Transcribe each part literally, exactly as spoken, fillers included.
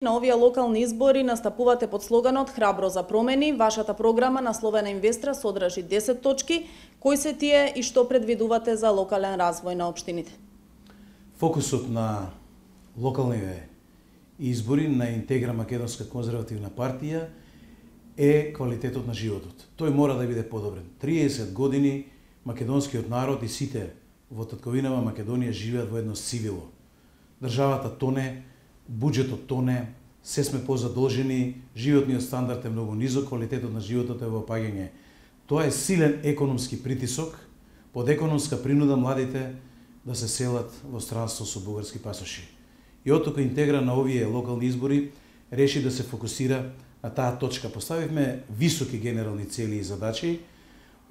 На овие локални избори настапувате под слоганот Храбро за промени. Вашата програма на Словена Инвестра содржи десет точки. Кои се тие и што предвидувате за локален развој на општините? Фокусот на локалните избори на Интегра Македонска конзервативна партија е квалитетот на животот. Тој мора да биде подобрен. триесет години македонскиот народ и сите во татковинава Македонија живеат во едно сивило. Државата тоне, буџетот тоне, се сме позадолжени, животниот стандард е многу низок, квалитетот на животот е во опаѓање. Тоа е силен економски притисок, под економска принуда младите да се селат во странство со бугарски пасоши. И оттука Интегра на овие локални избори реши да се фокусира на таа точка. Поставивме високи генерални цели и задачи,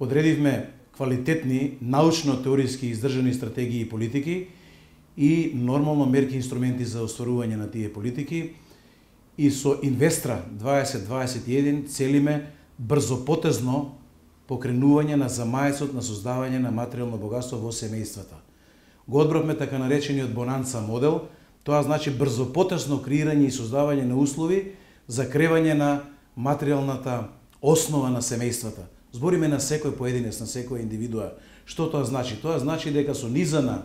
одредивме квалитетни, научно-теориски издржани стратегии и политики и нормално мерки и инструменти за остварување на тие политики. И со Инвестра дваесет дваесет и еден целиме брзопотезно покренување на замаецот на создавање на материјално богатство во семејствата. Го одбравме така наречениот Бонанца модел, тоа значи брзопотезно креирање и создавање на услови за кревање на материјалната основа на семејствата. Збориме на секој поединец, на секоја индивидуа. Што тоа значи? Тоа значи дека со низа на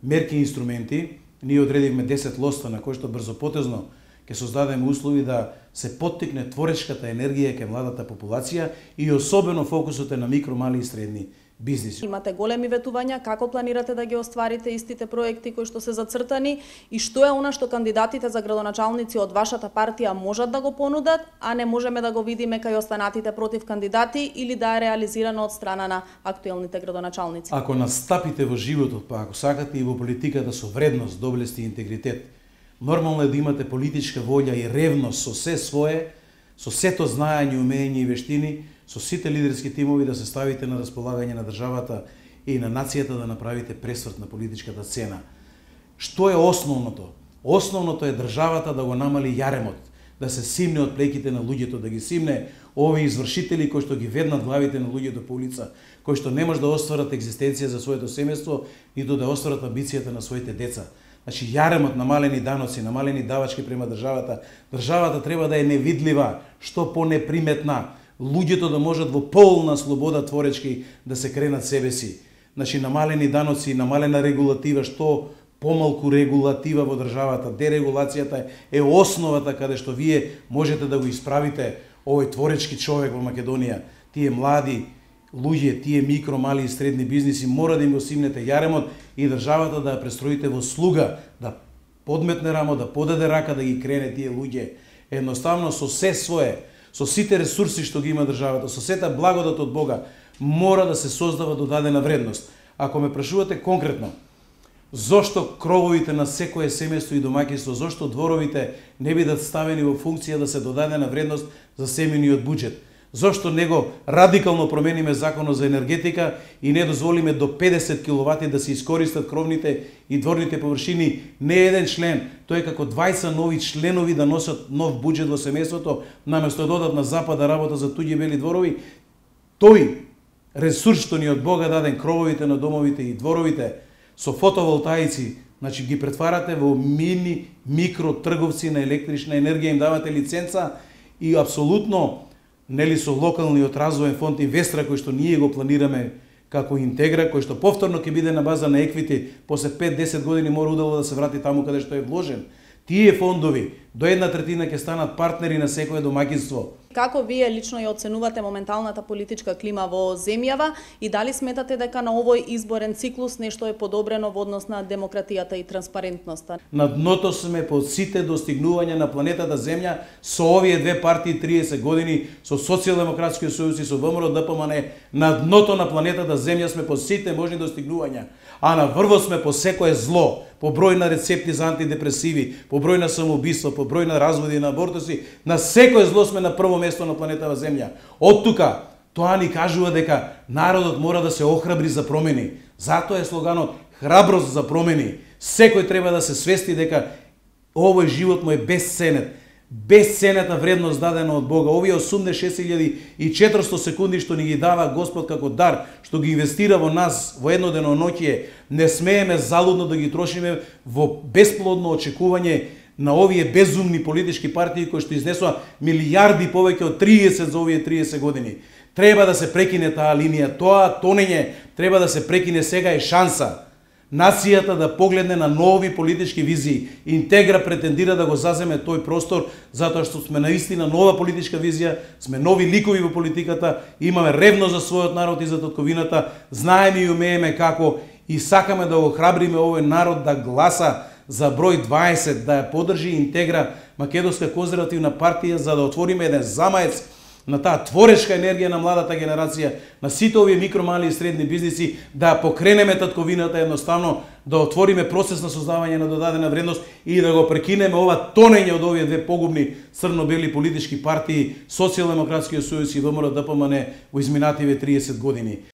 мерки и инструменти ние одредивме десет лоста на кои што брзопотезно ќе создадеме услови да се поттикне творечката енергија кај младата популација и особено фокусот е на микро, мали и средни бизниси. Имате големи ветувања, како планирате да ги остварите истите проекти кои што се зацртани и што е она што кандидатите за градоначалници од вашата партија можат да го понудат, а не можеме да го видиме кај останатите против кандидати или да е реализирано од страна на актуелните градоначалници? Ако настапите во животот, па ако сакате и во политиката со вредност, доблест и интегритет, нормално е да имате политичка волја и ревност со се свое, со сето знаење, умење и вештини, со сите лидерски тимови да се ставите на располагање на државата и на нацијата да направите пресврт на политичката сцена. Што е основното? Основното е државата да го намали јаремот, да се симне од плеките на луѓето, да ги симне овие извршители кои што ги веднат главите на луѓето по улица, кои што не може да остварат екзистенција за своето семејство, ниту да остварат амбицијата на своите деца. Значи, јаремот, намалени даноци, намалени давачки према државата, државата треба да е невидлива, што по-неприметна, луѓето да можат во полна слобода творечки да се кренат себе си. Значи, намалени даноци, намалена регулатива, што помалку регулатива во државата, дерегулацијата е основата каде што вие можете да го исправите овој творечки човек во Македонија. Тие млади луѓе, тие микро, мали и средни бизниси, мора да им го симнете јаремот и државата да ја престроите во слуга, да подметне рамо, да подаде рака, да ги крене тие луѓе. Едноставно со се свое, со сите ресурси што ги има државата, со сета благодат од Бога, мора да се создава додадена вредност. Ако ме прашувате конкретно, зошто крововите на секое семејство и домаќинство, зошто дворовите не бидат ставени во функција да се додадена вредност за семениот буџет? Зошто него радикално промениме законот за енергетика и не дозволиме до педесет киловати да се искористат кровните и дворните површини? Не еден член, тој како дваесет нови членови да носат нов буџет во семејството, наместо да одат на запад да работат за туѓи бели дворови. Тој ресурс што ни од Бога даден, крововите на домовите и дворовите, со фотоволтаици, значи ги претварате во мини, микро трговци на електрична енергија, им давате лиценца и апсолутно нели со локалниот развоен фонд Инвестра кој што ние го планираме како Интегра, кој што повторно ќе биде на база на еквити, после пет до десет години мора удало да се врати таму каде што е вложен. Тие фондови до една третина ќе станат партнери на секое домаќинство. Како вие лично ја оценувате моменталната политичка клима во земјава и дали сметате дека на овој изборен циклус нешто е подобрено во однос на демократијата и транспарентноста? На дното сме по сите достигнувања на планетата Земја со овие две партии триесет години, со Социјалдемократскиот сојуз и со ВМРО Д П М Н. На дното на планетата Земја сме по сите можни достигнувања, а на врвот сме по секое зло, по број на рецепти за антидепресиви, по број на самоубиства, по број на разводи, на абортуси, на секое зло сме на прво место на планетава Земја. Од тука, тоа ни кажува дека народот мора да се охрабри за промени. Затоа е слоганот Храброст за промени. Секој треба да се свести дека овој живот му е безценет. Безценетна вредност дадена од Бога. Овие осумдесет и шест илјади и четиристотини секунди што ни ги дава Господ како дар, што ги инвестира во нас во еднодневно ноќе, не смееме залудно да ги трошиме во бесплодно очекување на овие безумни политички партии кои што изнесоа милијарди повеќе од триесет за овие триесет години. Треба да се прекине таа линија, тоа тонење треба да се прекине, сега е шанса. Нацијата да погледне на нови политички визии. Интегра претендира да го заземе тој простор, затоа што сме наистина нова политичка визија, сме нови ликови во политиката, имаме ревност за својот народ и за татковината, знаеме и умееме како и сакаме да го храбриме овој народ да гласа за број дваесет, да ја поддржи Интегра, Македонска конзервативна партија, за да отвориме еден замаец на таа творечка енергија на младата генерација, на сите овие микро, мали и средни бизниси, да покренеме татковината, едноставно да отвориме процес на создавање на додадена вредност и да го прекинеме ова тонење од овие две погубни црно-бели политички партии, Социјалдемократскиот сојуз и ВМРО ДПМН во изминативе триесет години.